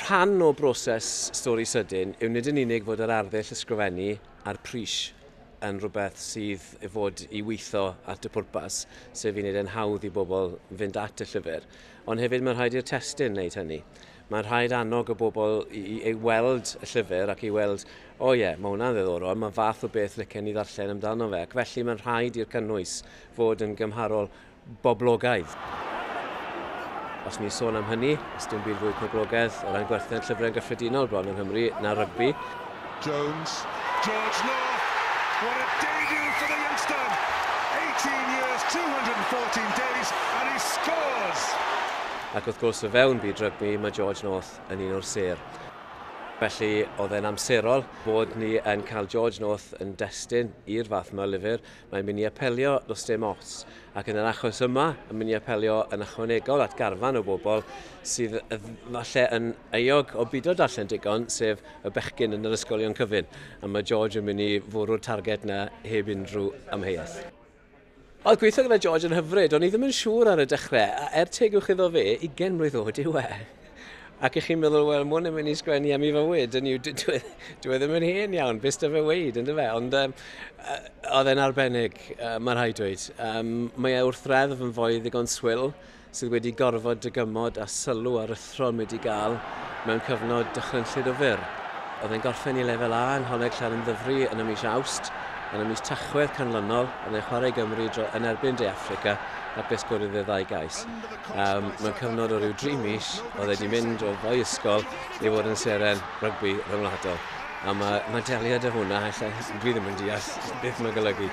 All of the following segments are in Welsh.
Rhan o broses Stori Sydyn yw nid yn unig fod yr arddull ysgrifennu a'r pris yn rhywbeth sydd i fod i weithio at y pwrpas, sef i wneud e'n hawdd i bobl fynd at y llyfr, ond hefyd mae'n rhaid i'r testun wneud hynny. Mae'n rhaid annog y bobl i weld y llyfr ac i weld, o ie, mae hwnna'n ddiddorol, mae fath o beth licen i ddarllen amdano fe, ac felly mae'n rhaid i'r cynnwys fod yn gymharol boblogaidd. Os ni'n sôn am hynny, os dim byd fwy poblogaidd o ran gwerthiant llyfrau yn gyffredinol bron yng Nghymru na rygbi. Jones, George North, what a debut for the youngster! 18 years, 214 days, and he scores! Ac wrth gwrs o fewn byd rygbi, mae George North yn un o'r sêr. Felly oedd e'n amserol bod ni yn cael George North yn destun i'r fath yma lyfr. Mae'n mynd i apelio does dim ots. Ac yn yr achos yma, yn mynd i apelio yn ychwanegol at garfan o bobl sydd falle yn euog o bido darllen digon, sef y bechgyn yn yr ysgolion cyfun. A mae George yn mynd i fwrw'r targed na heb unrhyw amheuaeth. Oedd gweithio gyda George yn hyfryd, o'n i ddim yn siŵr ar y dechrau, a er tegwch iddo fe, 20 mlwydd oed yw e. Ac ych chi'n meddwl, wel, mwyn yn mynd i sgwennu am ei fywyd, yn yw, dwi ddim yn hen iawn, beth da fe weid, ynddo fe? Ond oedd e'n arbennig, mae rhaid dweud. Mae e wrth reddf yn foi ddigon swil, sydd wedi gorfod dygymod a sylw aruthrol wedi gael mewn cyfnod dychrynllyd o fyr. Oedd e'n gorffen i lefel A yng Ngholeg Llanymddyfri yn y mis Awst, yn y mis Tachwedd canlynol, oedd e'n chwarae Gymru yn erbyn De Affrica, ac fe sgoriodd e 2 gais. Mewn cyfnod o ryw 3 mis, oedd e wedi mynd o foi ysgol i fod yn seren rygbi rhyngwladol. A mae deliad o hwnna, ella, dwi ddim yn deall beth mae'n golygu.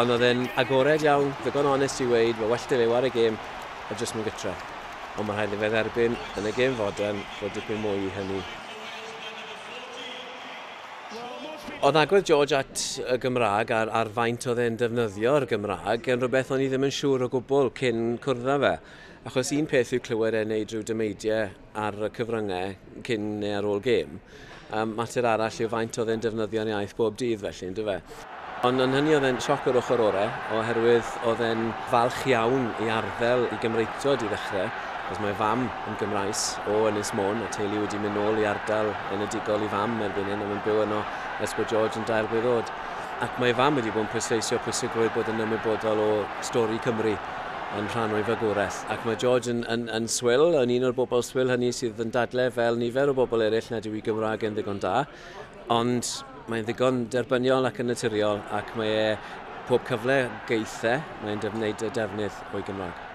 Ond oedd e'n agored iawn, ddigon onest i weud, mae well 'da fe ware gêm a jyst mynd gytre. Ond mae rhaid i fe dderbyn yn y gêm fodern fod dipyn mwy i hynny. Oedd agwedd George at y Gymraeg a'r faint oedd e'n defnyddio'r Gymraeg yn rhywbeth o'n i ddim yn siŵr o gwbl cyn cwrdd â fe. Achos un peth yw clywed e'n neud rhyw dymeidiau ar y cyfryngau cyn neu ar ôl gêm. Mater arall yw faint oedd e'n defnyddio'n iaith bob dydd felly, yndyfe? Ond yn hynny oedd e'n sioc o'r ochr orau, oherwydd oedd e'n falch iawn i arddel i Gymreictod i ddechrau, achos mae fam yn Gymraes o Ynys Môn, a teulu wedi mynd nôl i ardal enedigol i fam erbyn hyn, a mae'n byw yno ers bod George yn 3 blwydd oed. Ac mae fam wedi bod yn pwysleisio pwysigrwydd bod yn ymwybodol o stori Cymru yn rhan o'i fagwraeth. Ac mae George yn swil, yn un o'r bobl swil hynny sydd yn dadle fel nifer o bobl eraill nad yw ei Gymraeg yn ddigon da, ond mae'n ddigon derbyniol ac yn naturiol, ac mae e pob cyfle geithe, mae'n gwneud y defnydd o'i Gymraeg.